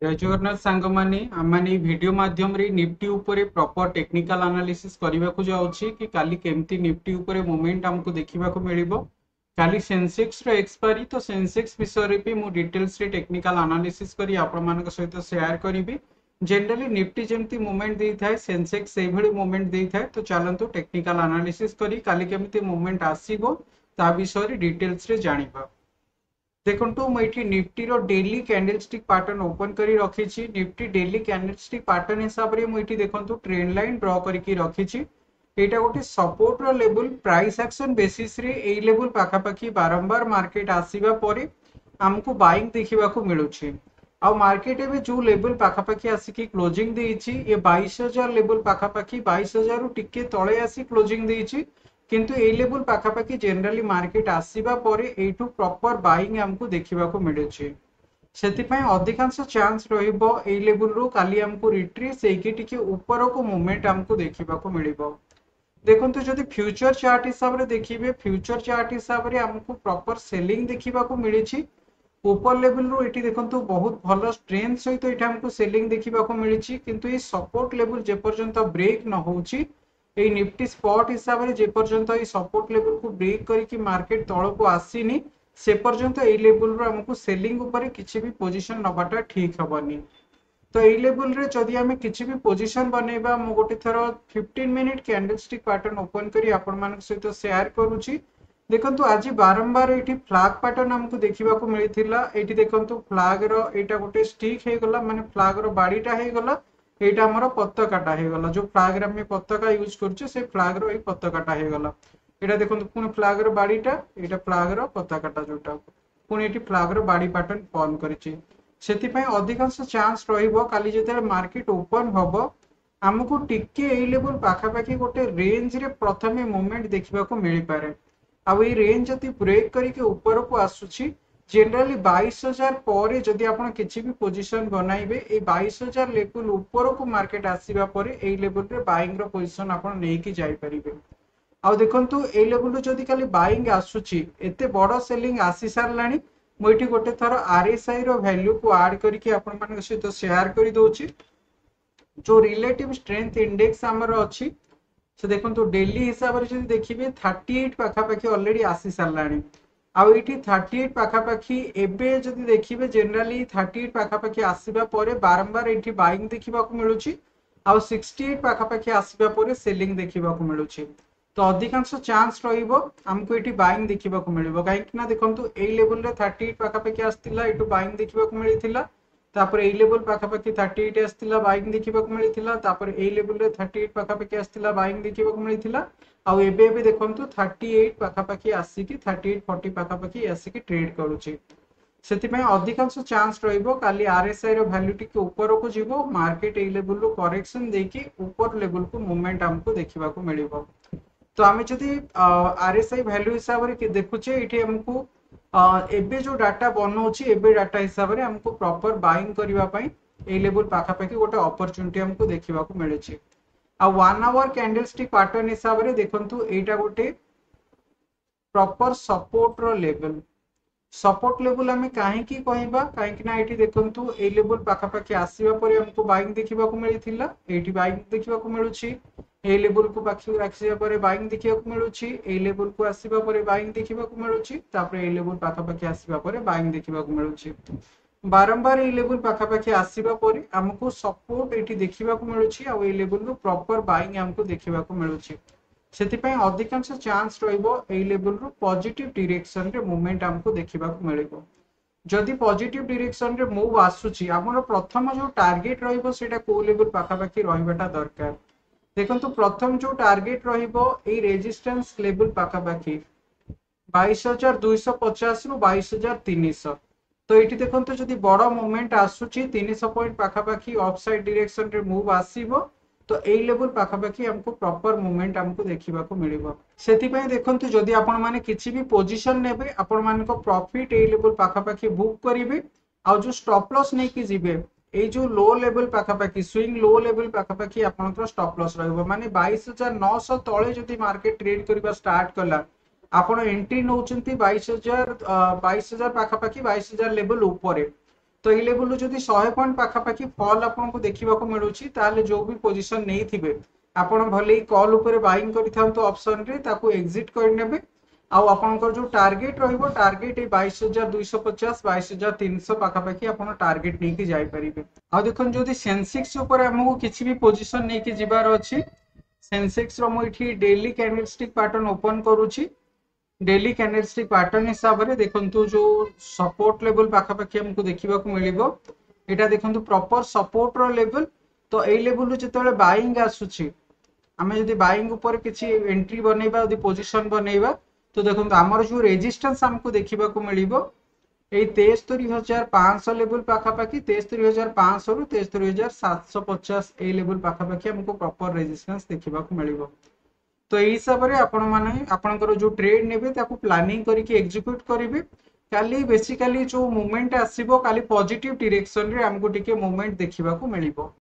ଜୟ ଜଗନ୍ନାଥ ସାଙ୍ଗମାନେ, ଆମମାନେ ଏଇ ଭିଡ଼ିଓ ମାଧ୍ୟମରେ ନିଫ୍ଟି ଉପରେ ପ୍ରପର ଟେକ୍ନିକାଲ ଆନାଲିସିସ୍ କରିବାକୁ ଯାଉଛି କି କାଲି କେମିତି ନିଫ୍ଟି ଉପରେ ମୁଭମେଣ୍ଟ ଆମକୁ ଦେଖିବାକୁ ମିଳିବ। କାଲି ସେନ୍ସେକ୍ସର ଏକ୍ସପାୟରି, ତ ସେନ୍ସେକ୍ସ ବିଷୟରେ ବି ମୁଁ ଡିଟେଲ୍ସରେ ଟେକ୍ନିକାଲ ଆନାଲିସିସ୍ କରି ଆପଣମାନଙ୍କ ସହିତ ସେୟାର କରିବି। ଜେନେରାଲି ନିଫ୍ଟି ଯେମିତି ମୁଭମେଣ୍ଟ ଦେଇଥାଏ, ସେନ୍ସେକ୍ସ ସେଇଭଳି ମୁଭମେଣ୍ଟ ଦେଇଥାଏ। ତ ଚାଲନ୍ତୁ ଟେକ୍ନିକାଲ ଆନାଲିସିସ୍ କରି କାଲି କେମିତି ମୁଭମେଣ୍ଟ ଆସିବ ତା ବିଷୟରେ ଡିଟେଲ୍ସରେ ଜାଣିବା। ଦେଖନ୍ତୁ, ମୁଁ ଏଠି ନିଫ୍ଟିର ଡେଲି କ୍ୟାଣ୍ଡେଲଷ୍ଟିକ୍ ପାଟର୍ନ ଓପନ୍ କରି ରଖିଛି। ନିଫ୍ଟି ଡେଲି କ୍ୟାଣ୍ଡେଲଷ୍ଟିକ୍ ପାଟର୍ନ ହିସାବରେ ମୁଁ ଏଠି ଦେଖନ୍ତୁ ଟ୍ରେଣ୍ଡ ଲାଇନ୍ ଡ୍ର କରିକି ରଖିଛି। ଏଇଟା ଗୋଟେ ସପୋର୍ଟର ଲେବୁଲ। ପ୍ରାଇସ୍ ଆକ୍ସନ ବେସିସରେ ଏଇ ଲେବୁଲ ପାଖାପାଖି ବାରମ୍ବାର ମାର୍କେଟ ଆସିବା ପରେ ଆମକୁ ବାଇଂ ଦେଖିବାକୁ ମିଳୁଛି। ଆଉ ମାର୍କେଟ ଏବେ ଯୋଉ ଲେବୁଲ ପାଖାପାଖି ଆସିକି କ୍ଲୋଜିଂ ଦେଇଛି, ଏ 22,000 ଲେବୁଲ ପାଖାପାଖି, 22,000ରୁ ଟିକେ ତଳେ ଆସି କ୍ଲୋଜିଂ ଦେଇଛି। କିନ୍ତୁ ଏଇ ଲେବୁଲ ପାଖାପାଖି ଜେନେରାଲି ମାର୍କେଟ ଆସିବା ପରେ ଏଇଠୁ ପ୍ରପର ବାଇଂ ଆମକୁ ଦେଖିବାକୁ ମିଳୁଛି। ସେଥିପାଇଁ ଅଧିକାଂଶ ଚାନ୍ସ ରହିବ ଏଇ ଲେବୁଲରୁ କାଲି ଆମକୁ ରିଟ୍ରେସ୍ ହେଇକି ଟିକେ ଉପରକୁ ମୁଭମେଣ୍ଟ ଆମକୁ ଦେଖିବାକୁ ମିଳିବ। ଦେଖନ୍ତୁ, ଯଦି ଫ୍ୟୁଚର ଚାର୍ଟ ହିସାବରେ ଦେଖିବେ, ଫ୍ୟୁଚର ଚାର୍ଟ ହିସାବରେ ଆମକୁ ପ୍ରପର ସେଲିଂ ଦେଖିବାକୁ ମିଳିଛି ଉପର ଲେବୁଲରୁ। ଏଠି ଦେଖନ୍ତୁ, ବହୁତ ଭଲ ଷ୍ଟ୍ରେନ୍ଥ ସହିତ ଏଠି ଆମକୁ ସେଲିଂ ଦେଖିବାକୁ ମିଳିଛି। କିନ୍ତୁ ଏଇ ସପୋର୍ଟ ଲେବୁଲ ଯେପର୍ଯ୍ୟନ୍ତ ବ୍ରେକ୍ ନ ହଉଛି, ଏଇ ନିଫ୍ଟି ସ୍ପଟ ହିସାବରେ ଯେପର୍ଯ୍ୟନ୍ତ ଏଇ ସପୋର୍ଟ ଲେବୁଲକୁ ବ୍ରେକ୍ କରିକି ମାର୍କେଟ ତଳକୁ ଆସିନି, ସେ ପର୍ଯ୍ୟନ୍ତ ଏଇ ଲେବୁଲରୁ ଆମକୁ ସେଲିଂ ଉପରେ କିଛି ବି ପୋଜିସନ ନବାଟା ଠିକ ହବନି। ତ ଏଇ ଲେବୁଲରେ ଯଦି ଆମେ କିଛି ବି ପୋଜିସନ ବନେଇବା, ମୁଁ ଗୋଟେ ଥର 15 ମିନିଟ୍ କ୍ୟାଣ୍ଡେଲଷ୍ଟିକ୍ ପାଟର୍ନ ଓପନ କରି ଆପଣମାନଙ୍କ ସହିତ ସେୟାର କରୁଛି। ଦେଖନ୍ତୁ, ଆଜି ବାରମ୍ବାର ଏଇଠି ଫ୍ଲାଗ ପାଟର୍ନ ଆମକୁ ଦେଖିବାକୁ ମିଳିଥିଲା। ଏଇଠି ଦେଖନ୍ତୁ, ଫ୍ଲାଗର ଏଇଟା ଗୋଟେ ଷ୍ଟିକ୍ ହେଇଗଲା, ମାନେ ଫ୍ଲାଗର ବାଡ଼ିଟା ହେଇଗଲା। ଏଇଟା ଆମର ପତାକାଟା ହେଇଗଲା। ଯୋଉ ଫ୍ଲାଗରେ ଆମେ ପତାକା ୟୁଜ କରୁଛେ, ସେ ଫ୍ଲାଗର ଏଇ ପତାକାଟା ହେଇଗଲା। ଏଇଟା ଦେଖନ୍ତୁ, ପୁଣି ଫ୍ଲାଗର ବାଡ଼ିଟା, ଏଇଟା ଫ୍ଲାଗର ପତାକାଟା ଯୋଉଟା, ପୁଣି ଏଠି ଫ୍ଲାଗର ବାଡ଼ି ପାଟର୍ନ ଫର୍ମ କରିଛି। ସେଥିପାଇଁ ଅଧିକାଂଶ ଚାନ୍ସ ରହିବ କାଲି ଯେତେବେଳେ ମାର୍କେଟ ଓପନ ହବ, ଆମକୁ ଟିକେ ଏଇ ଲେବୁଲ ପାଖାପାଖି ଗୋଟେ ରେଞ୍ଜରେ ପ୍ରଥମେ ମୁଭମେଣ୍ଟ ଦେଖିବାକୁ ମିଳିପାରେ। ଆଉ ଏଇ ରେଞ୍ଜ ଯଦି ବ୍ରେକ୍ କରିକି ଉପରକୁ ଆସୁଛି, ଜେନେରାଲି 22,000 ପରେ ଯଦି ଆପଣ କିଛି ବି ପୋଜିସନ ବନାଇବେ, ଏଇ 22,000 ଲେବୁଲ ଉପରକୁ ମାର୍କେଟ ଆସିବା ପରେ ଏଇ ଲେବୁଲରେ ବାଇଂ ର ପୋଜିସନ ଆପଣ ନେଇକି ଯାଇପାରିବେ। ଆଉ ଦେଖନ୍ତୁ, ଏଇ ଲେବୁଲରୁ ଯଦି କାଲି ବାଇଂ ଆସୁଛି, ଏତେ ବଡ ସେଲିଂ ଆସି ସାରିଲାଣି। ମୁଁ ଏଠି ଗୋଟେ ଥର ଆରଏସଆଇ ର ଭ୍ୟାଲ୍ୟୁକୁ ଆଡ୍ କରିକି ଆପଣମାନଙ୍କ ସହିତ ସେୟାର କରିଦଉଛି। ଯୋଉ ରିଲେଟିଭ ଷ୍ଟ୍ରେନ୍ଥ ଇଣ୍ଡେକ୍ସ ଆମର ଅଛି, ସେ ଦେଖନ୍ତୁ, ଡେଲି ହିସାବରେ ଯଦି ଦେଖିବେ, 38 ପାଖାପାଖି ଅଲରେଡି ଆସି ସାରିଲାଣି। ଆଉ ଏଇଠି 38 ପାଖାପାଖି ଏବେ ଯଦି ଦେଖିବେ, ଜେନେରାଲି 38 ପାଖାପାଖି ଆସିବା ପରେ ବାରମ୍ବାର ଏଇଠି ବାଇଂ ଦେଖିବାକୁ ମିଳୁଛି ଆଉ 68 ପାଖାପାଖି ଆସିବା ପରେ ସେଲିଂ ଦେଖିବାକୁ ମିଳୁଛି। ତ ଅଧିକାଂଶ ଚାନ୍ସ ରହିବ ଆମକୁ ଏଠି ବାଇଂ ଦେଖିବାକୁ ମିଳିବ। କାହିଁକି ନା ଦେଖନ୍ତୁ, ଏଇ ଲେବୁଲରେ 38 ପାଖାପାଖି ଆସିଥିଲା, ଏଠୁ ବାଇଂ ଦେଖିବାକୁ ମିଳିଥିଲା। ତାପରେ ଏଇ ଲେବୁଲ ପାଖାପାଖି 38 ଆସିଥିଲା, ବାଇଂ ଦେଖିବାକୁ ମିଳିଥିଲା। ତାପରେ ଏଇ ଲେବୁଲରେ 38 ପାଖାପାଖି ଆସିଥିଲା, ବାଇଂ ଦେଖିବାକୁ ମିଳିଥିଲା। ଆଉ ଏବେ ଏବେ ଦେଖନ୍ତୁ, 38 ପାଖାପାଖି ଆସିକି, 38 40 ପାଖାପାଖି ଆସିକି ଟ୍ରେଡ୍ କରୁଛି। ସେଥିପାଇଁ ଅଧିକାଂଶ ଚାନ୍ସ ରହିବ କାଲି ଆରଏସଆଇ ର ଭ୍ୟାଲ୍ୟୁ ଟିକେ ଉପରକୁ ଯିବ, ମାର୍କେଟ ଏଇ ଲେବୁଲରୁ କରେକ୍ସନ ଦେଇକି ଉପର ଲେବୁଲକୁ ମୁଭମେଣ୍ଟ ଆମକୁ ଦେଖିବାକୁ ମିଳିବ। ତ ଆମେ ଯଦି ଆରଏସଆଇ ଭ୍ୟାଲ୍ୟୁ ହିସାବରେ ଦେଖୁଛେ, ଏଇଠି ଆମକୁ ଏବେ ଯୋଉ ଡାଟା ବନଉଛି, ଏବେ ଡାଟା ହିସାବରେ ଆମକୁ ପ୍ରପର ବାଇଂ କରିବା ପାଇଁ ଏଇ ଲେବୁଲ ପାଖାପାଖି ଗୋଟେ ଅପରଚୁନିଟି ଆମକୁ ଦେଖିବାକୁ ମିଳୁଛି। ଆଉ 1 ଆୱାର କ୍ୟାଣ୍ଡେଲଷ୍ଟିକ୍ ପାଟର୍ନ ହିସାବରେ ଦେଖନ୍ତୁ, ଏଇଟା ଗୋଟେ ପ୍ରପର ସପୋର୍ଟର ଲେବୁଲ। ସପୋର୍ଟ ଲେବୁଲ ଆମେ କାହିଁକି କହିବା? କାହିଁକି ନା ଏଇଠି ଦେଖନ୍ତୁ, ଏଇ ଲେବୁଲ ପାଖାପାଖି ଆସିବା ପରେ ଆମକୁ ବାଇଂ ଦେଖିବାକୁ ମିଳିଥିଲା, ଏଇଠି ବାଇଂ ଦେଖିବାକୁ ମିଳୁଛି। ଏଇ ଲେବୁଲକୁ ପାଖକୁ ଆସିବା ପରେ ବାଇଂ ଦେଖିବାକୁ ମିଳୁଛି, ଏଇ ଲେବୁଲକୁ ଆସିବା ପରେ ବାଇଂ ଦେଖିବାକୁ ମିଳୁଛି, ତାପରେ ଏଇ ଲେବୁଲ ପାଖାପାଖି ଆସିବା ପରେ ବାଇଂ ଦେଖିବାକୁ ମିଳୁଛି। ବାରମ୍ବାର ଏଇ ଲେବୁଲ ପାଖାପାଖି ଆସିବା ପରେ ଆମକୁ ସପୋର୍ଟ ଏଇଠି ଦେଖିବାକୁ ମିଳୁଛି ଆଉ ଏଇ ଲେବୁଲରୁ ପ୍ରପର ବାଇଂ ଆମକୁ ଦେଖିବାକୁ ମିଳୁଛି। ସେଥିପାଇଁ ଅଧିକାଂଶ ଚାନ୍ସ ରହିବ ଏଇ ଲେବୁଲରୁ ପଜିଟିଭ ଡିରେକ୍ସନରେ ମୁଭମେଣ୍ଟ ଆମକୁ ଦେଖିବାକୁ ମିଳିବ। ଯଦି ପଜିଟିଭ ଡିରେକ୍ସନରେ ମୁଭ୍ ଆସୁଛି, ଆମର ପ୍ରଥମ ଯୋଉ ଟାର୍ଗେଟ ରହିବ ସେଇଟା କୋଉ ଲେବୁଲ ପାଖାପାଖି ରହିବାଟା ଦରକାର? ଦେଖନ୍ତୁ, ପ୍ରଥମ ଯୋଉ ଟାର୍ଗେଟ ରହିବ ଏଇ ରେଜିଷ୍ଟାନ୍ସ ଲେବୁଲ ପାଖାପାଖି, 22,250ରୁ 22,300। ତ ଏଇଠି ଦେଖନ୍ତୁ, ଯଦି ବଡ ମୁଭମେଣ୍ଟ ଆସୁଛି, 300 ପଏଣ୍ଟ ପାଖାପାଖି ଅପ୍ ସାଇଡ୍ ଡିରେକ୍ସନରେ ମୁଭ୍ ଆସିବ, ତ ଏଇ ଲେବୁଲ ପାଖାପାଖି ଆମକୁ ପ୍ରପର ମୁଭମେଣ୍ଟ ଆମକୁ ଦେଖିବାକୁ ମିଳିବ। ସେଥିପାଇଁ ଦେଖନ୍ତୁ, ଯଦି ଆପଣମାନେ କିଛି ବି ପୋଜିସନ ନେବେ, ଆପଣମାନଙ୍କ ପ୍ରଫିଟ ଏଇ ଲେବୁଲ ପାଖାପାଖି ବୁକ୍ କରିବେ। ଆଉ ଯୋଉ ଷ୍ଟପ୍ ଲସ୍ ନେଇକି ଯିବେ, ଏଇ ଯୋଉ ଲୋ ଲେବୁଲ ପାଖାପାଖି, ସୁଇଙ୍ଗ ଲୋ ଲେବୁଲ ପାଖାପାଖି ଆପଣଙ୍କର ଷ୍ଟପ୍ ଲସ୍ ରହିବ। ମାନେ 22,900 ତଳେ ଯଦି ମାର୍କେଟ ଟ୍ରେଡ୍ କରିବା ଷ୍ଟାର୍ଟ କଲା, ଆପଣ ଏଣ୍ଟ୍ରି ନେଉଛନ୍ତି 22,000 ପାଖାପାଖି, 22,000 ଲେବୁଲ ଉପରେ, ତ ଏଇ ଲେଭେଲରୁ ଯଦି 100 ପଏଣ୍ଟ ପାଖାପାଖି ଫଲ୍ ଆପଣଙ୍କୁ ଦେଖିବାକୁ ମିଳୁଛି, ତାହେଲେ ଯୋଉ ବି ପୋଜିସନ ନେଇଥିବେ ଆପଣ, ଭଲେ କଲ୍ ଉପରେ ବାଇଂ କରିଥାନ୍ତୁ ଅପସନରେ, ତାକୁ ଏକ୍ଜିଟ୍ କରିନେବେ। ଆଉ ଆପଣଙ୍କର ଯୋଉ ଟାର୍ଗେଟ ରହିବ, ଟାର୍ଗେଟ ଏଇ 22,250, 22,300 ପାଖାପାଖି ଆପଣ ଟାର୍ଗେଟ ନେଇକି ଯାଇପାରିବେ। ଆଉ ଦେଖନ୍ତୁ, ଯଦି ସେନ୍ସେକ୍ସ ଉପରେ ଆମକୁ କିଛି ବି ପୋଜିସନ ନେଇକି ଯିବାର ଅଛି, ସେନ୍ସେକ୍ସ ର ମୁଁ ଏଠି ଡେଲି କ୍ୟାଣ୍ଡେଲଷ୍ଟିକ୍ ପାଟର୍ନ ଓପନ କରୁଛି। ଡେଲି କ୍ୟାଣ୍ଡେଲଷ୍ଟିକ୍ ପାଟର୍ନ ହିସାବରେ ଦେଖନ୍ତୁ, ଯୋଉ ସପୋର୍ଟ ଲେଭେଲ ପାଖାପାଖି ଆମକୁ ଦେଖିବାକୁ ମିଳିବ, ଏଇଟା ଦେଖନ୍ତୁ ପ୍ରପର ସପୋର୍ଟର ଲେଭେଲ। ତ ଏଇ ଲେଭେଲରୁ ଯେତେବେଳେ ବାଇଂ ଆସୁଛି, ଆମେ ଯଦି ବାଇଂ ଉପରେ କିଛି ଏଣ୍ଟ୍ରି ବନେଇବା, ଯଦି ପୋଜିସନ ବନେଇବା, ତ ଦେଖନ୍ତୁ ଆମର ଯୋଉ ରେଜିଷ୍ଟାନ୍ସ ଆମକୁ ଦେଖିବାକୁ ମିଳିବ ଏଇ 73,500 ଲେଭେଲ ପାଖାପାଖି। 73,500ରୁ 73,750, ଏଇ ଲେଭେଲ ପାଖାପାଖି ଆମକୁ ପ୍ରପର ରେଜିଷ୍ଟାନ୍ସ ଦେଖିବାକୁ ମିଳିବ। ତ ଏଇ ହିସାବରେ ଆପଣମାନେ ଆପଣଙ୍କର ଯୋଉ ଟ୍ରେଡ୍ ନେବେ, ତାକୁ ପ୍ଲାନିଂ କରିକି ଏକ୍ଜିକ୍ୟୁଟ କରିବେ। କାଲି ବେସିକାଲି ଯୋଉ ମୁଭମେଣ୍ଟ ଆସିବ, କାଲି ପଜିଟିଭ ଡିରେକ୍ସନରେ ଆମକୁ ଟିକେ ମୁଭମେଣ୍ଟ ଦେଖିବାକୁ ମିଳିବ।